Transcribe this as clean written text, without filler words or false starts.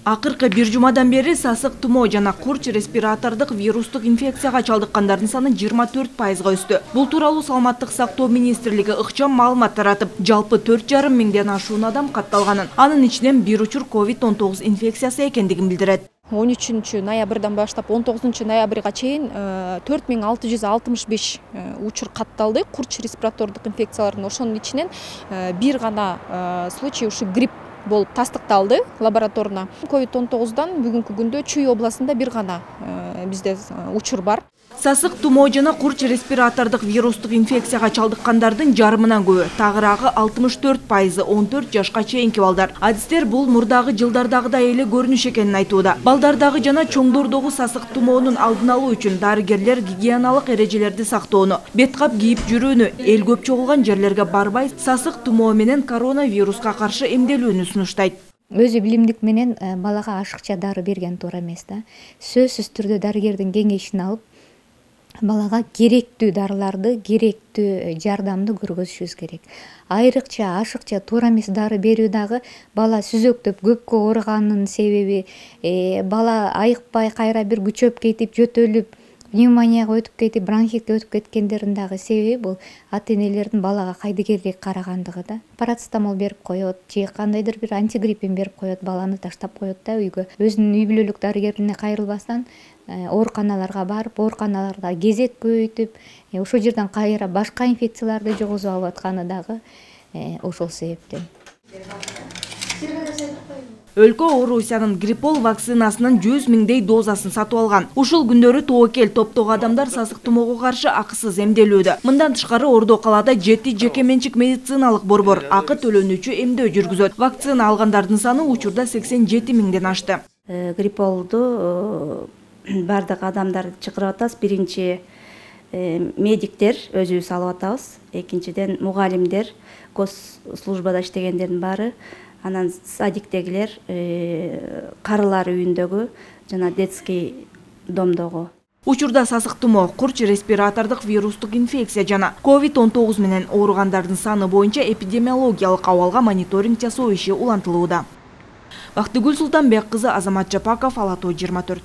Акыркы бир жумадан бери сасык тумоо жана курч респиратордук вирустук инфекцияга чалдыккандардын саны 24%га өстү. Бул тууралуу Саламаттык сактоо министрлиги ыкчам маалымат таратып, жалпы 4,5 миңден ашуун адам катталганын, анын ичинен бир учур COVID-19 инфекциясы экендигин билдирет. 13 ноябрдан баштап 19 ноябрга чейин 4665 учур катталды курч респиратордук инфекциялардын. Ошонун ичинен бир гана случай ушу грипп болуп тастыкталды лабораторно. COVID-19дан бүгүнкү күндө Чүй областында бир гана бизде учур бар. Сасык тумоо жана курч респиратордук вирустук инфекцияга чалдыккандардын жарымынан көбү, тагыраагы 64% 14 жашка чейинки балдар. Адистер бул мурдагы жылдардагыдай эле көрүнүш экенин айтууда. Балдардагы жана чоңдордогу сасык тумоонун алдын алуу үчүн дарыгерлер гигиеналык эрежелерди сактоону, бет кап кийип жүрүүнү, эл көп чогулган жерлерге барбай, сасык тумоо менен коронавируска каршы эмделүүнү сунуштайт. Өзү билимдик менен балага ашыкча дары берген туура эмес да. Сөзсүз түрдө дарыгердин кеңешин алып, балага керектүү дарыларды, керектүү жардамды көргөзүшүбүз керек. Айрыкча ашыкча туура эмес дары берүү дагы бала сүзөктөп көпкө ооруганын себеби, бала айыкпай кайра бир күчөп кетип, жөтөлүп, пневмонияга өтүп кетип, бронхитке өтүп кеткендердин дагы себеби бул ата-энелердин балага кайдыгерлик карагандыгы да. Парацетамол берип коет, же кандайдыр бир антигриппин берип коет, баланы таштап коет да үйгө. Өзүнүн үй бүлөлүк дарыгерине кайрылбастан ооруканаларга барып, ооруканаларда кезек көбөйтүп, ошол жерден кайра башка инфекцияларды жогозуп алып атканы дагы ошол себептен. Өлкө Орусиянын гриппол вакцинасынын 100 миңдей дозасын сатып алган. Ушул күндөрү тобокел топтогу адамдар сасык тумоого каршы акысыз эмделүүдө. Мындан тышкары Ордо калаада 7 жеке менчик медициналык борбор акы төлөнүүчү эмдөө жүргүзөт. Вакцина алгандардын саны учурда 87 миңден ашты. Грипполду бардык адамдар чакырып атабыз. Биринчи медиктер өзүбүз алып атабыз. Экинчиден мугалимдер, госслужбада иштегендердин баары, анан садиктегилер, карылар үйүндөгү жана детский домдогу. Учурда сасык тумоо, курч респиратордук вирустук инфекция жана COVID-19 менен ооругандардын саны боюнча эпидемиологиялык абалга мониторинг жасоо иши улантылууда. Бактыгүл Султанбек кызы, Азамат Жапаков, Ала Тоо 24.